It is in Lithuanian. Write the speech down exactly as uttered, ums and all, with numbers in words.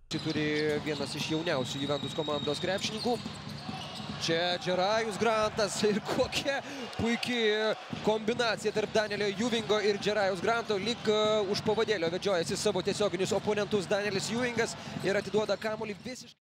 Turi vienas iš jauniausių Juventus komandos krepšininkų. Čia Džerajus Grantas ir kokia puikiai kombinacija tarp Danielio Juvingo ir Džerajus Granto. Lyg už pavadėlio vedžiojasi savo tiesioginius oponentus Danielis Juvingas ir atiduoda kamuolį visiškai.